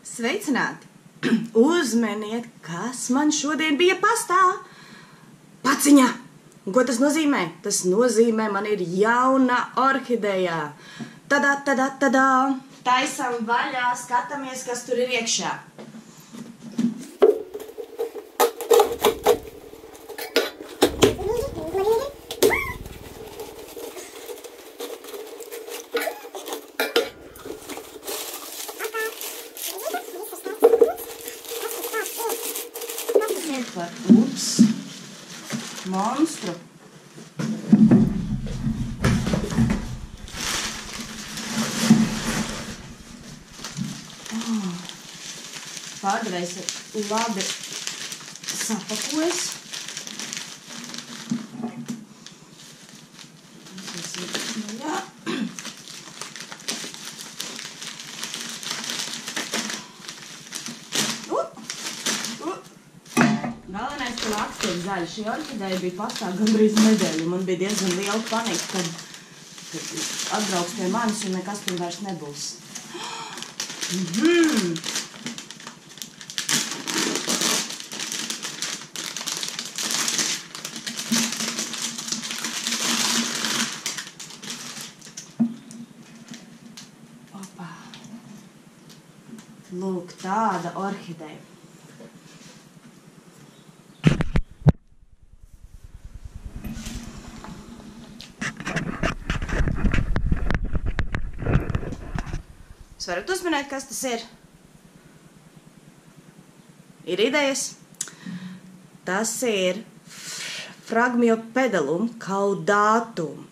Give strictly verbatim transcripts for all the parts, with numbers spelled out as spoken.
Sveicināti! Uzmeniet, kas man šodien bija pastā! Paciņa! Un ko tas nozīmē? Tas nozīmē, man ir jauna orhideja. Tadā, tadā, tadā! Taisam vaļā, skatāmies, kas tur ir iekšā. Par ups, monstru. Oh. Pārdevējs ir labi sapakojis. Jā. Galvenais, ka laksts ir zaļš. Šī orhideja bija pastā gandrīz nedēļu. Man bija diezgan liela panika, kad, kad atbrauks pie manis un nekas tur vairs nebūs. Mm-hmm. Opa. Lūk, tāda orhideja. Jūs varat uzminēt, kas tas ir? Ir idejas? Tas ir Phragmiopedilum caudatum.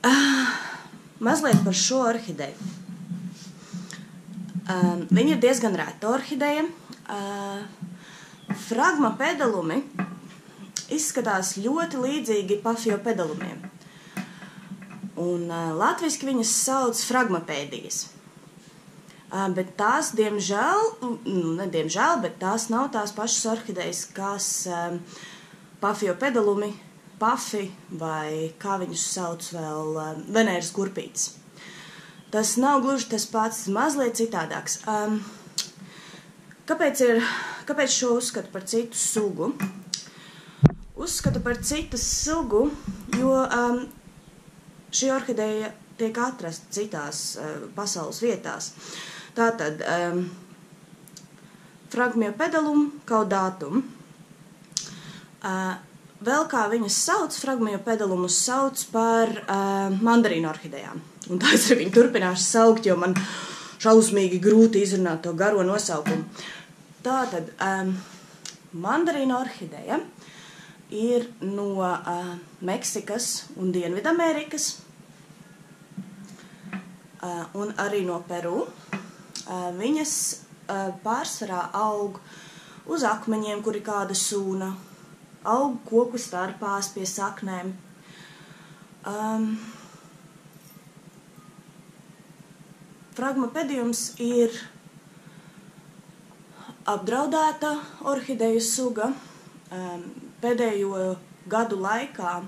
Uh, mazliet par šo orhideju. Uh, viņa ir diezgan reta orhideja. Uh, Phragmiopedilumi izskatās ļoti līdzīgi Paphiopedilumiem. Un uh, latviski viņas sauc fragmopēdijas. Uh, bet tās, diemžēl, nu, ne diemžēl, bet tās nav tās pašas orhidejas, kas uh, Paphiopedilumi, pafi vai kā viņus sauc vēl Venēras kurpītes. Tas nav gluži tas pats, mazliet citādāks. Um, kāpēc, ir, kāpēc šo uzskatu par citu sugu? Uzskatu par citu sugu, jo um, šī orhideja tiek atrasta citās uh, pasaules vietās. Tātad um, Phragmiopedilum caudatum. Uh, Vēl kā viņas sauc, Phragmiopedilumus sauc par uh, mandarīnu orhidejām. Un tā es arī viņu turpināšu saukt, jo man šausmīgi grūti izrunāt to garo nosaukumu. Tātad, um, mandarīna orhideja ir no uh, Meksikas un Dienvidamerikas uh, un arī no Peru. Uh, viņas uh, pārsvarā aug uz akmeņiem, kuri kāda sūna, aug koku starpās pie saknēm. Um, Phragmiopedilums ir apdraudēta orhideju suga. Um, pēdējo gadu laikā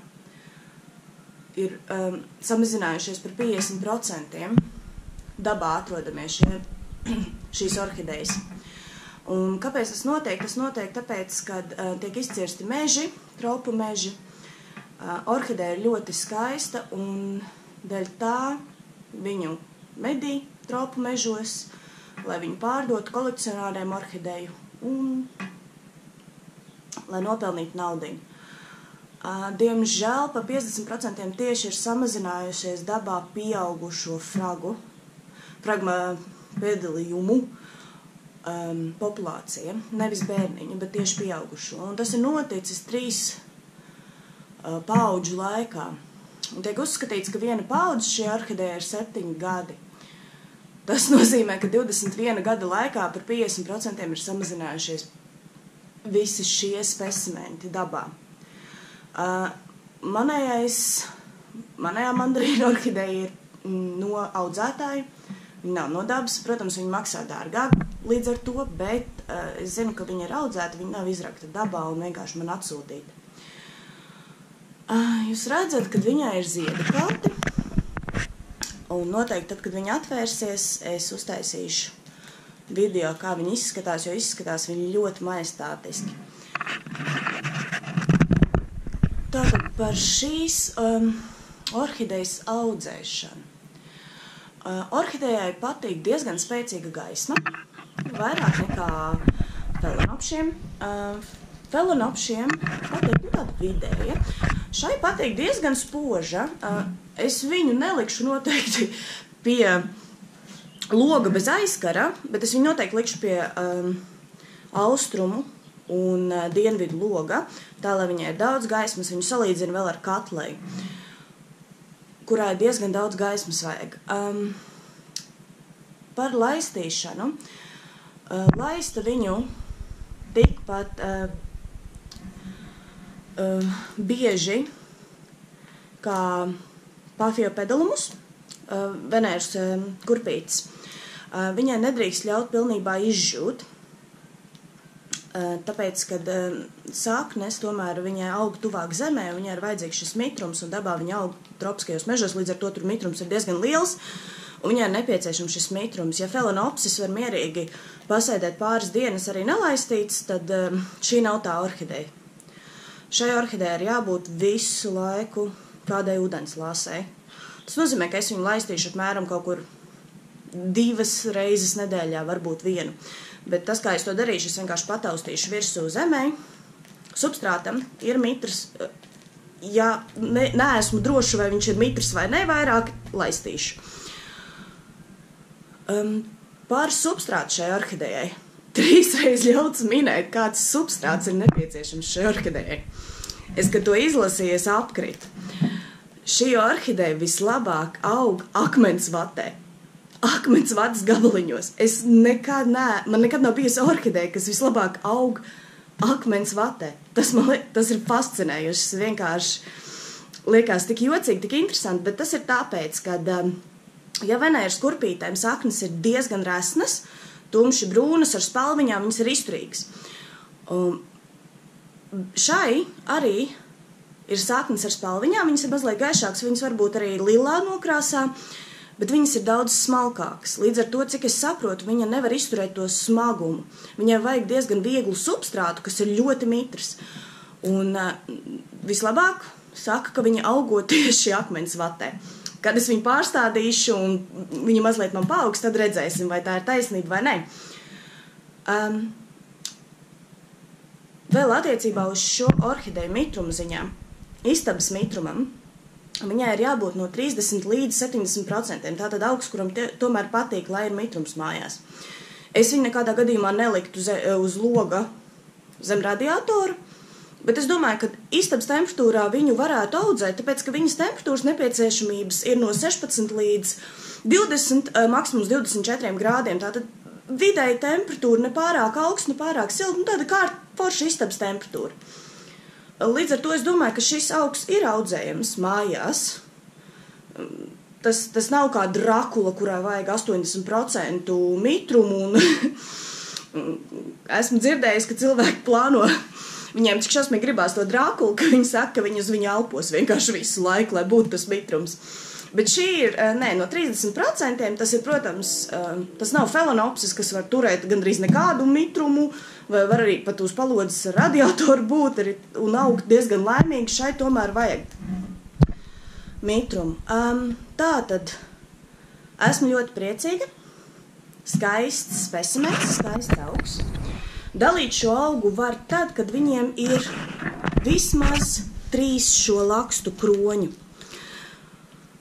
ir um, samazinājušies par piecdesmit procentiem dabā atrodamies šie, šīs orhidejas. Un kāpēc tas notiek? Tas notiek tāpēc, kad uh, tiek izcirsti meži, tropu meži. Uh, orhideja ir ļoti skaista un dēļ tā viņu medī tropu mežos, lai viņu pārdotu kolekcionāriem orhideju un lai nopelnītu naudiņu. Uh, diemžēl pa piecdesmit procentiem tieši ir samazinājušies dabā pieaugušo fragu, Phragmiopediliumu, Um, populācija, nevis bērniņa, bet tieši pieaugušo. Un tas ir noticis trīs uh, paudžu laikā. Un tiek uzskatīts, ka viena paudze šī orhideja ir septiņi gadi. Tas nozīmē, ka divdesmit viena gada laikā par piecdesmit procentiem ir samazinājušies visi šie specimenti dabā. Uh, manējais manējā mandarīna orhideja ir no audzētāja. Viņa nav no dabas, protams, viņa maksā dārgāk līdz ar to, bet uh, es zinu, ka viņa ir audzēta, viņa nav izrakta dabā un vienkārši man atsūtīta. Uh, jūs redzat, kad viņai ir ziedu kalti, un noteikti tad, kad viņa atvērsies, es uztaisīšu video, kā viņa izskatās, jo izskatās viņa ļoti majestātiski. Tātad par šīs um, orhidejas audzēšanu. Uh, orhidejai patīk diezgan spēcīga gaisma, vairāk nekā felinopšiem. Uh, felinopšiem patīk nu, tāda vidēja. Šai patīk diezgan spoža. Uh, es viņu nelikšu noteikti pie loga bez aizkara, bet es viņu noteikti likšu pie um, austrumu un uh, dienvidu loga, tā, lai viņai ir daudz gaismas, viņu salīdzina vēl ar katleju, kurā ir diezgan daudz gaismas vajag. Um, par laistīšanu. Uh, laista viņu tikpat uh, uh, bieži kā Paphiopedilums, uh, Venēras uh, kurpītes. Uh, viņai nedrīkst ļaut pilnībā izžūt, uh, tāpēc, kad uh, saknes tomēr viņai aug tuvāk zemē, viņai ir vajadzīgs šis mitrums, un dabā viņa aug tropiskajos mežos, līdz ar to tur mitrums ir diezgan liels, un viņai ir nepieciešams šis mitrums. Ja felinopsis var mierīgi pasēdēt pāris dienas arī nelaistīts, tad um, šī nav tā orhideja. Šai orhidejai ir jābūt visu laiku kādai ūdenslāsei. Tas nozīmē, ka es viņu laistīšu apmēram kaut kur divas reizes nedēļā, varbūt vienu. Bet tas, kā es to darīšu, es vienkārši pataustīšu virsū zemē. Substrātam ir mitrs. Ja ne, neesmu droša, vai viņš ir mitrs vai ne, vairāk laistīšu. Um, par substrātu šai orhidejai. Trīsreiz ļauts minēt, kāds substrāts ir nepieciešams šai orhidejai. Es, kad to izlasīju, es apkritu. Šī orhideja vislabāk aug akmens vatē. Akmens vatas gabaliņos. Es nekad ne, man nekad nav bijusi orhideja, kas vislabāk aug akmens vatē. Tas, man, tas ir fascinējuši, vienkārši liekas tik jocīgi, tik interesanti, bet tas ir tāpēc, ka, ja Venēras kurpītēm saknes ir diezgan resnas, tumši brūnas ar spalviņām, viņas ir izturīgas. Um, šai arī ir saknes ar spalviņām, viņas ir mazliet gaišākas, viņas varbūt arī lilā nokrāsā, bet viņas ir daudz smalkākas. Līdz ar to, cik es saprotu, viņa nevar izturēt to smagumu. Viņai vajag diezgan vieglu substrātu, kas ir ļoti mitrs. Un uh, vislabāk saka, ka viņa augo tieši akmens vatē. Kad es viņu pārstādīšu un viņa mazliet man paaugs, tad redzēsim, vai tā ir taisnība vai ne. Um, vēl attiecībā uz šo orhideju mitrumu ziņām, istabas mitrumam, viņai ir jābūt no trīsdesmit līdz septiņdesmit procentiem. Tātad augs, kuram te, tomēr patīk, lai ir mitrums mājās. Es viņu nekādā gadījumā neliktu ze, uz loga zem radiatoru, bet es domāju, ka istabas temperatūrā viņu varētu audzēt, tāpēc, ka viņas temperatūras nepieciešamības ir no sešpadsmit līdz divdesmit, maksimums divdesmit četriem grādiem. Tātad vidēji temperatūra ne pārāk augsts, ne pārāk silta, nu tāda kā forša istabas temperatūra. Līdz ar to es domāju, ka šis augs ir audzējams mājās. Tas, tas nav kā Drakula, kurā vajag astoņdesmit procentu mitrumu. Un esmu dzirdējis, ka cilvēki plāno, viņiem cik šausmīgi gribās to Drakulu, ka viņi saka, ka viņi uz viņu elpos vienkārši visu laiku, lai būtu tas mitrums. Bet šī ir, nē, no trīsdesmit procentiem, tas ir, protams, tas nav felinopsis, kas var turēt gandrīz nekādu mitrumu, vai var arī pat uz palodzes ar radiatoru būt un augt diezgan laimīgi, šai tomēr vajag mitrumu. Um, tā tad esmu ļoti priecīga, skaists specimens, skaists augs. Dalīt šo augu var tad, kad viņiem ir vismaz trīs šo lakstu kroņu.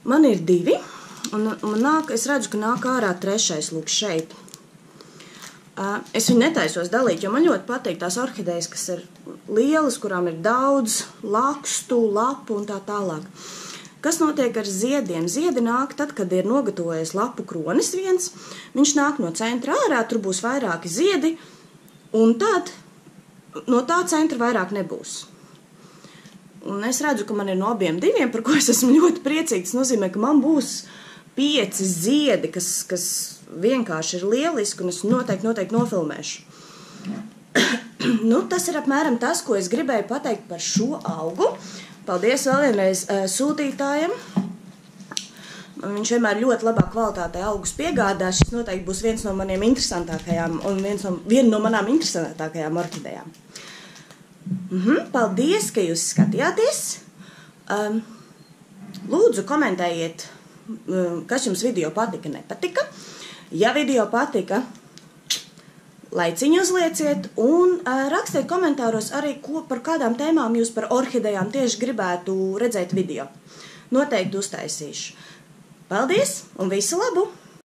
Man ir divi, un man nāk, es redzu, ka nāk ārā trešais, lūk, šeit. Es viņu netaisos dalīt, jo man ļoti patīk tās orhidejas, kas ir lielas, kurām ir daudz lakstu, lapu un tā tālāk. Kas notiek ar ziediem? Ziedi nāk tad, kad ir nogatavojies lapu kronis viens, viņš nāk no centra ārā, tur būs vairāki ziedi, un tad no tā centra vairāk nebūs. Un es redzu, ka man ir no abiem diviem, par ko es esmu ļoti priecīgs. Tas nozīmē, ka man būs pieci ziedi, kas, kas vienkārši ir lieliski, un es noteikti, noteikti nofilmēšu. Nu, tas ir apmēram tas, ko es gribēju pateikt par šo augu. Paldies vēl vienreiz uh, sūtītājiem. Viņš vienmēr ļoti labā kvalitātē augus piegādā. Šis noteikti būs viens no maniem interesantākajām un viens no, viena no manām interesantākajām orhidejām. Mhm, paldies, ka jūs skatījāties. Um, lūdzu, komentējiet, um, kas jums video patika, nepatika. Ja video patika, laiciņu uzlieciet un uh, rakstiet komentāros arī, ko, par kādām tēmām jūs par orhidejām tieši gribētu redzēt video. Noteikti uztaisīšu. Paldies un visu labu!